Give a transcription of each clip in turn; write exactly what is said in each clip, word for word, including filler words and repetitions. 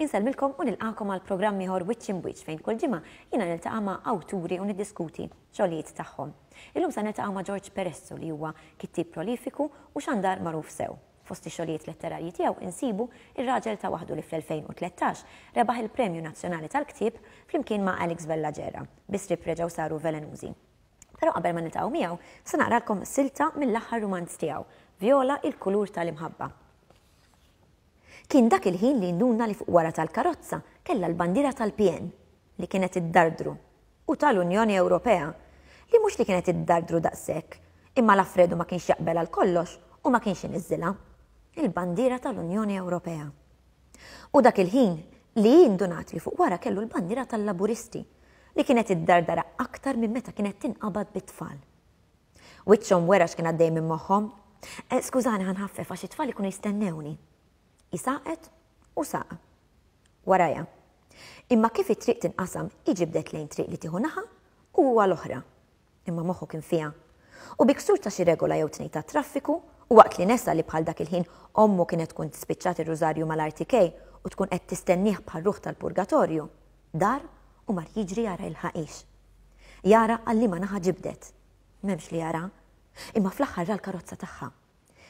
Insellmilkom u nilqakom għal programm ieħor Wiċċ Imb'Wiċċ, fejn kull ġimgħa jiena niltaqa' ma' awturi u niddiskuti xogħlijiet tagħhom. Illum se niltaqgħu ma' George Peresso, li huwa kittieb prolifiku u xandar magħruf sew. Fost ix-xogħlijiet letterarji tiegħu insibu Ir-Raġel ta' Waħdu, li fl-elfejn u tlettax rebaħ il-Premju Nazzjonali tal-Ktieb flimkien ma' Alex Vella Gera, Bi Sriep Reġgħu Saru Velenużi. Però qabel ma niltaqgħu miegħu, se naqralkom silta mill-aħħar rumanz tiegħu, Viola, il-kulur tal-imħabba. Kien dak il-ħin li nduna li fuq wara tal-karozza kella l-bandira tal-P N li kienet iddardru u tal-Unjoni Ewropea li mhux li kienet iddardru daqshekk, imma l-Alfredo ma kienx jaqbel għal kollox u ma kienx iniżżilha. Il-bandiera tal-Unjoni Ewropea. U dak il-ħin li indunat li fuq wara kellu l-bandiera tal-Laburisti li kienet iddardara aktar minn meta kienet tinqabad bit-tfal. Wiċċhom wera x'kien għaddej minn moħħhom. Eh, skużani, ħa nħaffef għax it-tfal ikunu jistennewni. Saqet u saq. Waraja. Imma kif it-triq tinqasam, ġibdet lejn triq li tieħu naħa u huwa l-oħra. Imma moħħu kien fiha. U bi ksur ta' xi regola jew tnejn ta' traffiku, u waqt li nesa li bħal dak il-ħin ommu kienet tkun spiċċat ir-rużarju mal-R T K u tkun qed tistennieh bħal ruħ tal-purgatorju, dar u mar jiġri jara il-ħaqix. Jara għal liema naħa ġibdet. M'hemmx li jara, imma fl-aħħar ra l-karozza tagħha.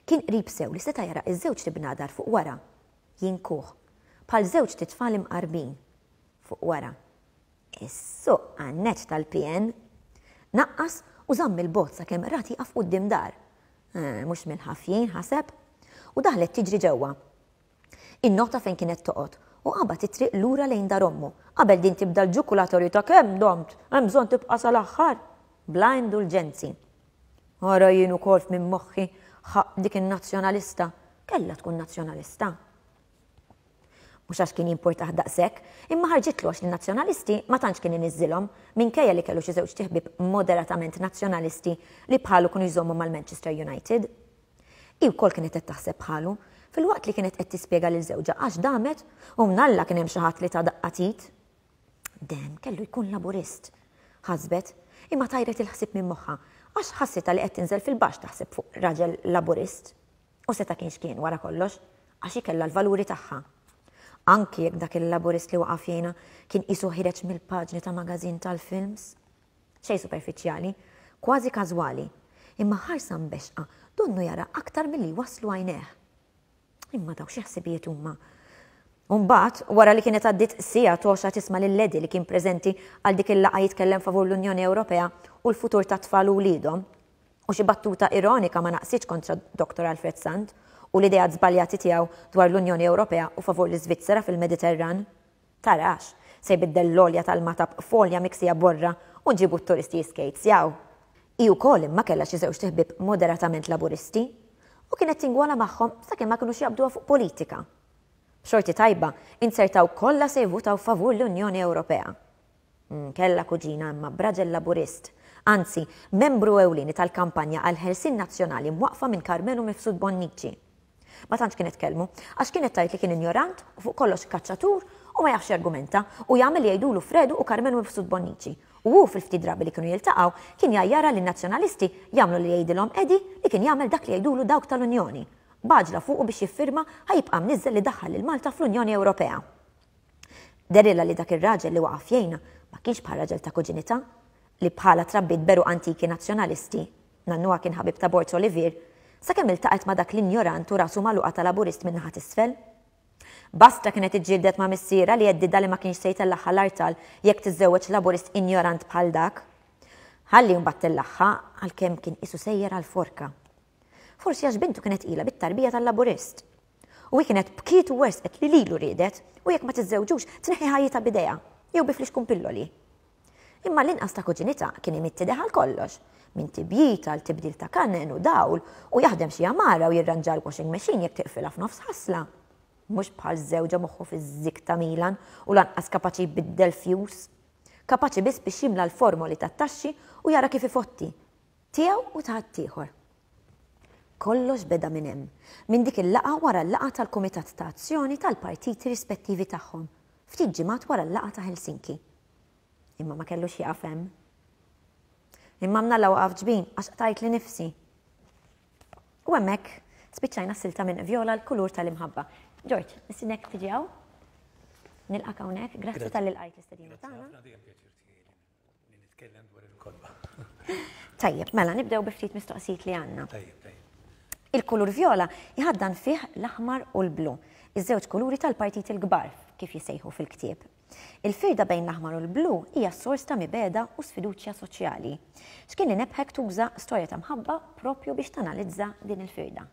Kien qrib sew li seta' jara iż-żewġ bnadar fuq wara. Jinkuh, bħal żewġ titfal imqarbin fuq wara. Is-suq għanneċ tal-P N. Naqqas u żamm il-bogħod sakemm ra tieqaf quddiem dar. Eh, mhux mill-ħafjin, ħaseb, u daħlet tiġri ġewwa. Innota fejn kienet toqgħod u qabad it-triq lura lejn dar ommu qabel din tibda l-ġukulatorju ta' kemm domt, hemm bżonn tibqa' sal-aħħar. Bla indulġenzi. Ora jien ukoll minn moħħi dik in-nazzjonalista, kellha tkun nazzjonalista. Mhux għax kien jimpurtah daqshekk, imma ħarġitlu għax in-nazzjonalisti ma tantx kien iniżżilhom, minkejja li kellu xi żewġ ħbieb moderatament nazzjonalisti li bħalu kienu jżommu mal-Manchester United. Hi wkoll kienet qed taħseb bħalu, filwaqt li kienet qed tispjega lil żewġha għax damet u mnalla kien hemm xi ħadd li ta daqqa t'id. Dem kellu jkun Laburist. Ħasbet, imma tajret il-ħsieb minn moħħha għax ħassitha li qed tinżel fil-baxx taħseb fuq raġel Laburist. U seta' kienx kien wara kollox, għax kellha l-valuri tagħha. Anki jekk dak il-Laburist li waqaf jgħinha kien qisu ħireġ mill-paġni ta' magazin tal-films. Xej superfiċjali, kważi każwali, imma ħarsa mbexqa donnu jara aktar milli waslu għajnejh. Imma daw xi ħsibijiet huma? Umbagħad, wara li kienet għaddit siegħa toxa tisma' lil Eddie, li kien preżenti għal dik il-laqgħa, jitkellem favur l-Unjoni Ewropea u l-futur ta' tfal u wliedhom, u xi battuta ironika ma naqsitx kontra Doktor Alfred Sant u l-idea żbaljati tiegħu dwar l-Unjoni Ewropea u favur l-Iżvizzera fil-Mediterran. Tarax, se jbiddel l-olja tal-Magħtab f'olja miksija borra u nġibu t-turisti jiskejzjaw. Hi wkoll imma kellha xi żewġ ħbieb moderatament Laburisti u kienet tingwala magħhom sakemm ma kinux jaqbduha fuq politika. Xorti tajba, inzertaw kollha se jvutaw favur l-Unjoni Ewropea. Mm, kella kuġina imma b'raġel Laburist, anzi, membru ewlieni tal-kampanja għal ħelsien nazzjonali mwaqfa minn Karmenu Mifsud Bonnici. Ma tantx kienet tkellmu, għax kienet tgħid li kien ignorant u fuq kollox kaċċatur u ma jafx argumenta u jagħmel li jgħidulu Fredu u Karmenu Mifsud Bonnici. U hu fil-ftit drabi li kienu jiltaqgħu kien jgħajjarha li nazzjonalisti jagħmlu li jgħidilhom Eddie, li kien jagħmel dak li jgħidulu dawk tal-Unjoni. B'għaġla fuqu biex jiffirma ħa jibqa' mniżżel li daħħal lil Malta fl-Unjoni Ewropea. Dehrilha li dak ir-raġel li waqaf jgħinha ma kienx bħal raġel ta' kuġinitha li bħala trabbit beru antiki nazzjonalisti, nannuha kien ħabib ta' Borg Olivier, sakemm iltaqgħet ma' dak l-injorant u rasu magħluqa ta' Laburist minn naħa t'isfel. Basta kienet iġġieldet ma' missierha li għeddidha li ma kienx se jtellagħha l-artal jekk tiżżewweġ Laburist injorant bħal dak. Ħalli mbagħad tellagħha, għalkemm kien qisu sejjer għal-forka. Forsi għax bintu kienet ila bit-tarbija tal-Laburist. U hi kienet bkiet u wersqet li lilu riedet u jekk ma tiżżewġux tneħħi ħajjitha b'idejha jew bi flixkun pilloli. Imma l-inqas ta' kuġinitha kien imidd idejh għal kollox, minn tibjit għal tibdil ta' kanen u dawl, u jaħdem xi għamara u jirranġa l-washing machine jekk tiqfilha f'nofs ħasla. Mhux bħal żewġha, moħħu fiż-zik ta' Milan u lanqas kapaċi jbiddel fuse. Kapaċi biss biex jimla l-formoli tat-taxxi u jara kif ifotti. Tiegħu u ta' ieħor. Kollox beda minn hemm, minn dik il-laqgħa wara l-laqgħa tal-Kumitat ta' Azzjoni tal-partiti rispettivi tagħhom, ftit ġimgħat wara l-laqgħa ta' Helsinki. Imma ma kellux jaqaf hemm. Imma mnalla waqaf ġbin, għax qtajtli nifsi. U hemmhekk spiċċajna silta minn Viola, l-kulur tal-imħabba. George, nistiednek tiġi hawn? Nilqgħek hawnhekk, grazzi talli lqajt l-istedina tagħna. Nitkellem dwar il-kotba. Tajjeb, mela nibdew bi ftit mistoqsijiet li għandna. Tajjeb, tajjeb. Il-kulur vjola jħaddan fih l-aħmar u l-blu, iż-żewġ kuluri tal-partit il-kbar kif jisejħu fil-ktieb. Il-firda bejn l-aħmar u l-blu hija sors ta' mibegħda u sfiduċja soċjali. X'kien li nebħek tuża storja ta' mħabba propju biex tanalizza din il-firda?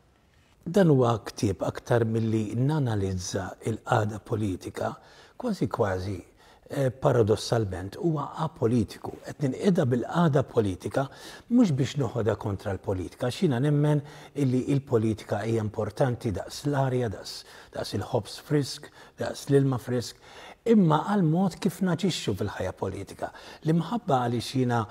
Dan huwa ktieb aktar milli nanalizza il-qagħda politika, kważi kważi eh, paradossalment huwa apolitiku. Qed ninqeda bil-qagħda politika mhux biex noħodha kontra l-politika, jiena nemmen illi il-politika hija importanti daqs l-arja, daqs, daqs il-ħobż frisk, daqs l-ilma frisk, imma għal mod kif naġixxu fil-ħajja politika. L-imħabba għaliex jiena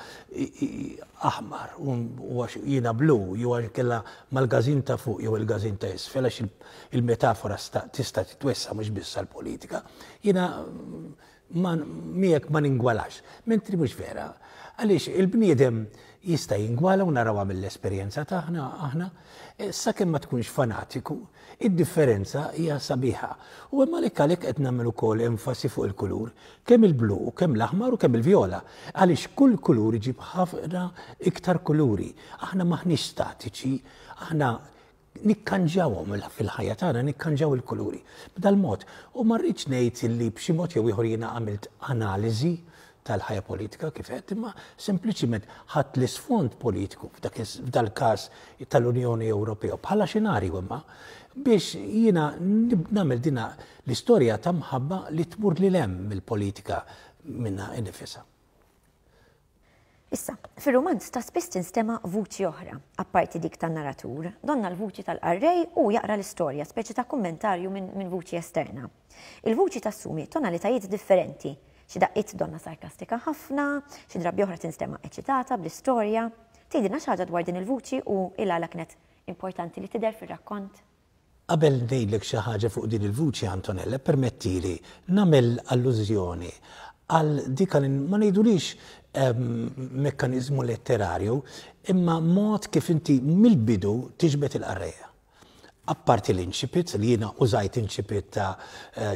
aħmar u għax jiena blu, jew għax kella mal-każin ta' fuq jew il-każin ta' isfel, għax il-metafora tista' titwessa mhux biss għall-politika. Jiena miegħek ma ningwalax, mentri mhux vera. Għaliex il-bniedem jista' jingwala u narawha mill-esperjenza tagħna aħna, sakemm ma tkunx fanatiku, id-differenza hija sabiħa. U hemm għalhekk għalhekk qed nagħmel ukoll enfasi fuq il-kulur, kemm il-blu, kemm l-aħmar u kemm il-vjola. Għaliex kull kulur iġib ħafna iktar kuluri. Aħna maħniex statiċi, aħna nikkanġawhom fil-ħajja tagħna, nikkanġaw il-kuluri. B'dal-mod, u ma rridx ngħid li b'xi mod jew ieħor jiena għamilt analiżi tal-ħajja politika kif qed, imma sempliċiment ħadt l-isfond politiku f'dal-każ tal-Unjoni Ewropea bħala xenarju imma biex jiena nagħmel dina l-istorja ta' mħabba li tmur lil hemm mill-politika minna innifisha. Issa, fir-rumanz ta' spiss tinstema' vuċi oħra, apparti dik tan-narratur, donna l-vuċi tal-qarrej u jaqra l-istorja, speċi ta' kummentarju minn min vuċi esterna. Il-vuċi tassumi tonalitajiet differenti, xi daqqiet donna sarkastika ħafna, xi drabi oħra tinstema' eċitata bl-istorja. Tgħidilna xi ħaġa dwar din il-vuċi u il-għala kienet importanti li tidher fir-rakkont? Qabel ngħidlek xi ħaġa fuq din il-vuċi, Antonella, permettili nagħmel allużjoni għal dik li ma ngħidulix mekkaniżmu letterarju, imma mod kif inti mill-bidu tiġbed il-qarrejja. Apparti l-incipit, li jiena użajt incipit ta'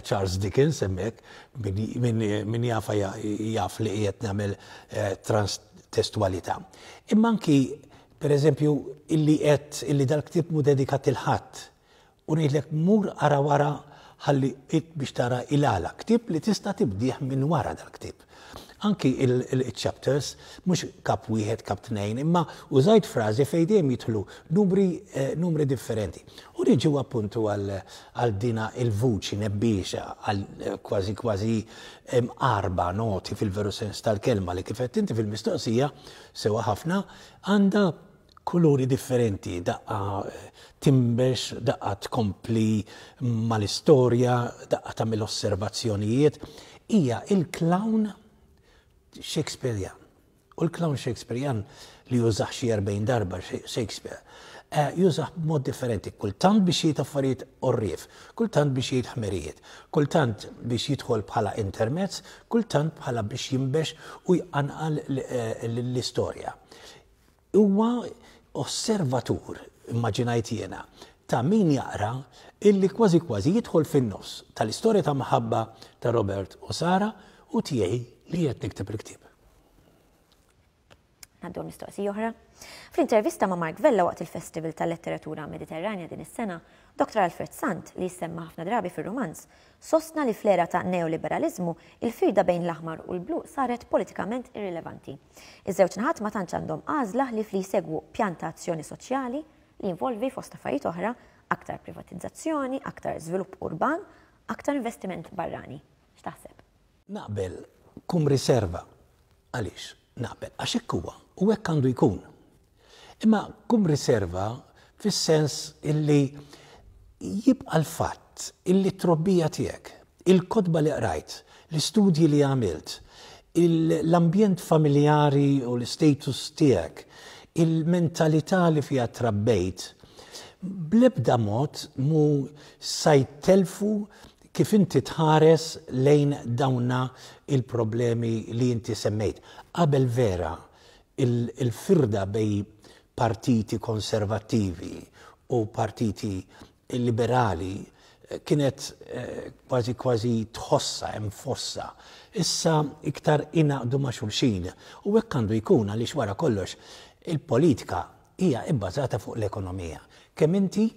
Charles Dickens hemmhekk, min jafa jaf li qiegħed nagħmel transtestualità. Imma anki, per eżempju, illi qed illi dal-ktieb mhu dedikat lil ħadd u ngħidlek mur ara wara ħalli biex tara il-għala. Ktieb li tista' tibdih minn wara dal-ktieb. Anki il-chapters, mhux kap wieħed, kap tnejn, imma użajt frażi fejn dejjem jidħlu numri, numri differenti. U niġu appuntu għal dina il-vuċi nebbiexa, għal kważi kważi arba noti fil-veru sens tal-kelma li kif qed inti fil-mistoqsija sewa ħafna għandha kuluri differenti, daqqa timbex, daqqa tkompli mal-istorja, daqqa tagħmel osservazzjonijiet. Hija il-clown Shakespearean. U l-clown Shakespearean li jużax xi erbgħin darba Shakespeare, jużax b'mod differenti, kultant biex jgħid affarijiet orrif, kultant biex jgħid ħmerijiet, kultant biex jidħol bħala intermezz, kultant bħala biex jimbex u jqanqal l-istorja. Huwa osservatur, immaġinajt jiena, ta' min jaqra illi kważi kważi jidħol fin-nofs tal-istorja ta' mħabba ta' Robert u Sara u tiegħi li qed nikteb il-ktieb. Ngħaddu mistoqsija oħra. Fl-intervista ma' Mark Vella waqt il-Festival tal-Letteratura Mediterranja din is-sena, Doktor Alfred Sant, li jissemma ħafna drabi fir-rumanz, sostna li fl-era ta' neoliberalizmu il-firda bejn l-aħmar u l-blu saret politikament irrilevanti. Iż-żewġ naħat ma tantx għandhom għażla li fli jsegwu pjan ta' azzjoni soċjali li jinvolvi fost affarijiet oħra aktar privatizzazzjoni, aktar żvilupp urban, aktar investiment barrani. X'taħseb? Naqbel kum riserva. Għaliex? Naqbel, għax hekk huwa u hekk għandu jkun. Imma kum riserva fis-sens illi jibqa' l-fatt illi t-trobbija tiegħek, il-kotba li qrajt, l-istudji li għamilt, l-ambjent familjari u l-status tiegħek, il-mentalità li fiha trabbejt, bl-ebda mod mu sa jtelfu kif inti tħares lejn dawna il-problemi li inti semmejt. Qabel vera, il-firda bej partiti konservattivi u partiti liberali kienet kważi kważi tħossa, hemm fossa. Issa iktar ingħaqdu ma' xulxin. U hekk għandu jkun, għaliex wara kollox il-politika hija ibbażata fuq l-ekonomija. Kemm inti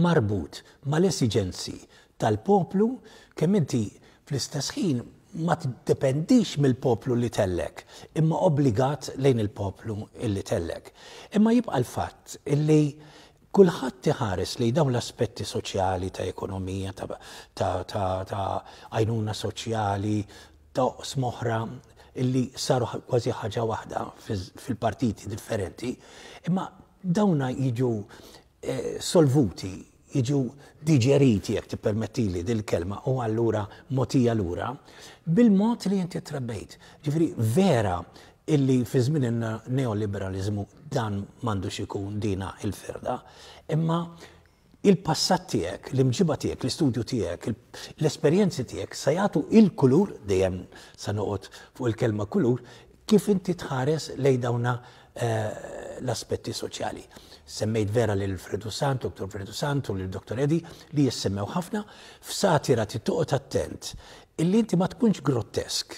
marbut mal-esiġenzi tal-poplu, kemm inti fl-istess ħin ma tiddependix mill-poplu li tellek, imma obbligat lejn il-poplu illi tellek. Imma jibqa' l-fatt illi kulħadd iħares li dawn l-aspetti soċjali ta' ekonomija, ta' għajnuna soċjali, ta' oqsma oħra illi saru kważi ħaġa waħda fil-partiti differenti, imma dawna jiġu solvuti, jiġu diġeriti, jekk tippermettili dil-kelma, u allura mogħtija lura bil-mod li inti trabbejt. Ġifieri vera illi fi żmien il-neoliberalizmu dan m'għandux ikun dina il-firda, imma il-passat tiegħek, l-imġiba tiegħek, l-istudju tiegħek, l-esperjenzi tiegħek sa jagħtu il-kulur, dejjem sa noqgħod fuq il-kelma kulur, kif inti tħares lejn dawna l-aspetti soċjali. Semmejt vera lil Fredu Sant, Doktor Fredu Sant u lil Doktor Edi li jissemmew ħafna. F'satira titoqgħod attent illi inti ma tkunx grottesk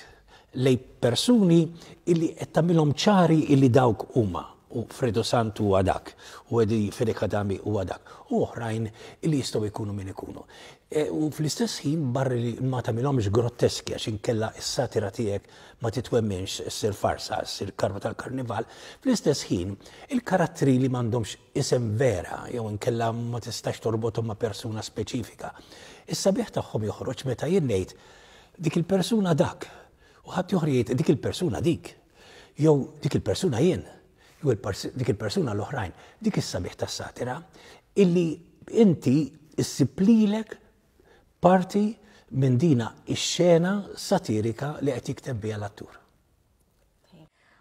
lej persuni illi qed tagħmilhom ċari illi dawk huma, u Fredu Sant huwa dak, u Edi Fenech Adami huwa dak, u oħrajn illi jistgħu jkunu min ikunu. U fl-istess ħin barri li ma tagħmilhomx grotteski, għax inkella s-satira tiegħek ma titwemminx, issir farsa, issir karba tal-karnival. Fl-istess ħin il-karattri li m'għandhomx isem vera jew inkella ma tistax torbothom ma' persuna speċifika, is-sabiħ tagħhom joħroġ meta jien ngħid dik il-persuna dak, u ħadd joħroġ jgħid dik il-persuna dik, jew dik il-persuna jien, jew dik il-persuna l-oħrajn. Dik is-sabiħ tas-satira illi inti issib lilek parti minn dina ix-xena satirika li qed jikteb biha l-attur.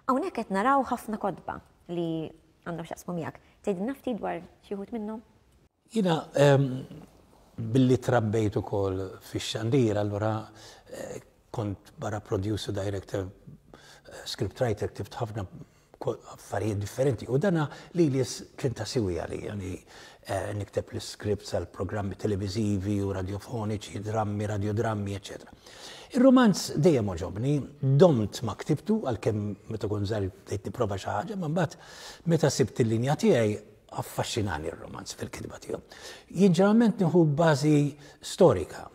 Hawnhekk qed naraw ħafna kotba li għandhom x'jaqsmu miegħek. Tgħidilna ftit dwar xi wħud minnhom? Jiena billi trabbejt ukoll fix-xandir, allura kont barra producer, director, scriptwriter, ktibt ħafna affarijiet differenti. U dana li li kien ta' siwi għali, yani nikteb l-scripts għal programmi televizivi u radiofoniċi, drammi, radiodrammi, eccetera. Il-romanz dejjem oġobni, domt ma ktibtu, għalkemm meta kont żgħir bdejt nipprova xi ħaġa, ma mbagħad meta sibt il-linja tiegħi affaxxinani r-romanz fil-kitba tiegħu. Jien ġeneralment nieħu bażi storika,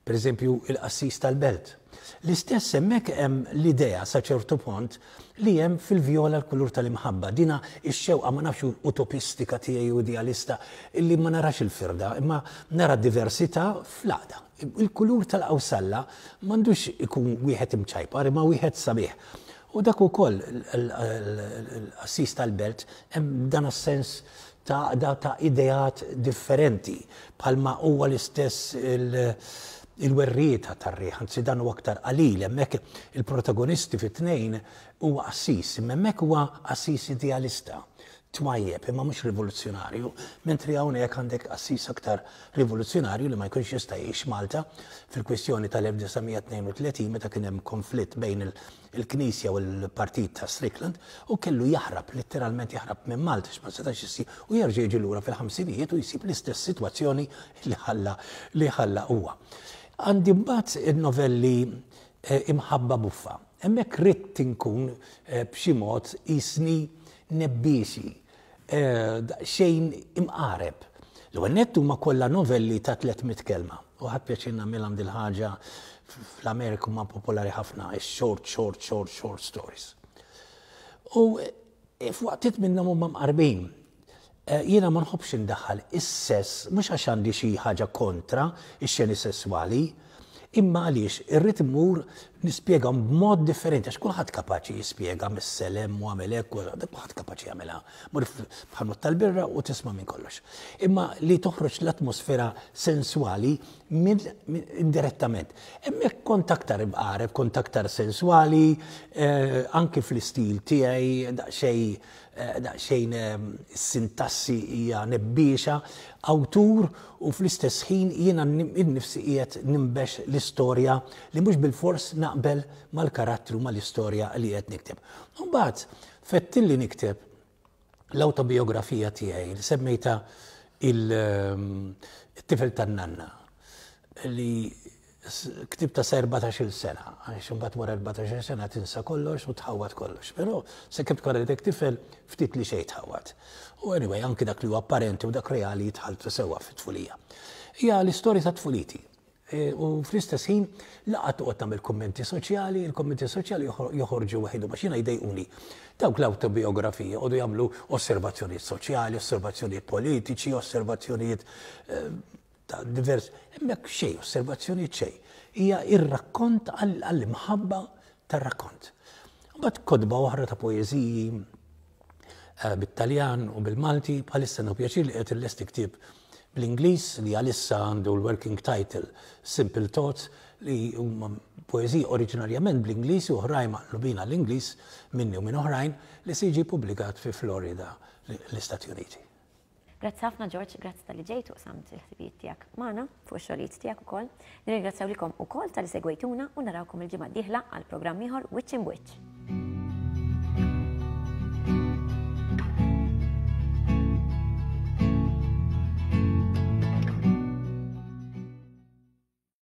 per eżempju il-Qassis tal-Belt. L-istess hemmhekk hemm l-idea sa ċertu punt li hemm fil-vjola l-kulur tal-imħabba. Dina ix-xewqa ma nafx utopistika tiegħi u idealista illi ma narax il-firda, imma nara diversità fl-għaqda. Il-kulur tal-qawsalla m'għandux ikun wieħed imċajpar, imma wieħed sabiħ. U dak ukoll l-Qassis tal-Belt hemm dan is-sens ta' ta' ideat differenti, bħalma huwa l-istess il-werrieta tar-riħ, anzi dan huwa aktar qalil, hemmhekk il-protagonisti fit-tnejn huwa qassis, imma hemmhekk huwa qassis idealista, twajjeb, imma mhux rivoluzzjonarju, mentri hawnhekk għandek qassis aktar rivoluzzjonarju li ma jkunx jista' jgħix Malta fil-kwistjoni tal-elf disa' mija tnejn u tletin meta kien hemm konflitt bejn il-Knisja u l-Partit ta' Strickland, u kellu jaħrab, letteralment jaħrab minn Malta x'ma setax issir, u jerġa' jiġi lura fil-ħamsinijiet u jsib l-istess sitwazzjoni li ħalla li ħalla huwa. Għandi mbagħad il-novelli Imħabba Buffa. Hemmhekk ridt inkun b'xi mod isni nebbiesi, xejn imqareb. L-ewwel nett huma kollha novelli ta' tliet mitt kelma. U ħadd pjaċir nagħmilha dil ħaġa fl-Amerika huma popolari ħafna, short, short, short, short stories. U f'waqtiet minnhom huma mqarbin. Jiena ma nħobbx indaħħal is-sess, mhux għax għandi xi ħaġa kontra ix-xeni sesswali, imma għaliex irrid immur nispjegahom b'mod differenti, għax kulħadd kapaċi jispjega mis-selem u għamel hekk u kulħadd kapaċi jagħmilha. Mur f'ħanut tal-birra u tisma' minn kollox. Imma li toħroġ l-atmosfera senswali minn indirettament. Hemmhekk kont aktar imqareb, kont aktar senswali, anki fl-istil tiegħi daqsxejn daqsxejn sintassi hija nebbiexa, awtur, u fl-istess ħin jiena innifsi qiegħed nimbex l-istorja li mhux bilfors naqbel mal-karattru mal-istorja li qed nikteb. Mbagħad fettilli nikteb l-awtobiografija tiegħi li semmejta It-tifel tan-nanna, li ktibtha sa erbatax-il sena, għax imbagħad wara erbatax-il sena tinsa kollox u tħawwad kollox. Però sakemm tkun għadek tifel, ftit li xejn tħawwad. U anyway, anki dak li huwa apparenti u dak reali jitħaltu sewwa fit-tfulija. Hija l-istorja ta' tfuliti. E, u fl-istess ħin laqgħa toqgħod tagħmel kummenti soċjali, il-kummenti soċjali joħorġu waħedhom għax jiena jdejquni. Dawk l-awtobiografiji joqogħdu jagħmlu osservazzjonijiet soċjali, osservazzjonijiet politiċi, osservazzjonijiet eh, ta' divers, hemmhekk xejn, osservazzjonijiet xejn. Hija ir-rakkont għall-imħabba tar-rakkont. Mbagħad kotba oħra ta' poeżiji eh, bit-Taljan u bil-Malti, bħalissa nieħu pjaċir li qed illesti ktieb bl-Ingliż li għalissa għandu l-working title Simple Thoughts, li huma poeżiji oriġinarjament bl-Ingliż u oħrajn maqlubin għall-Ingliż minni u minn oħrajn, li se jiġi publikat fi Florida, l-Istati Uniti. Grazzi ħafna, George, grazzi talli ġejt u qsamt il-ħsibijiet tiegħek magħna fuq ix-xogħlijiet tiegħek ukoll. Nirringrazzjaw lilkom ukoll talli segwejtuna u narawkom il-ġimgħa d-dieħla għal programm ieħor Wiċċ Imb'Wiċċ.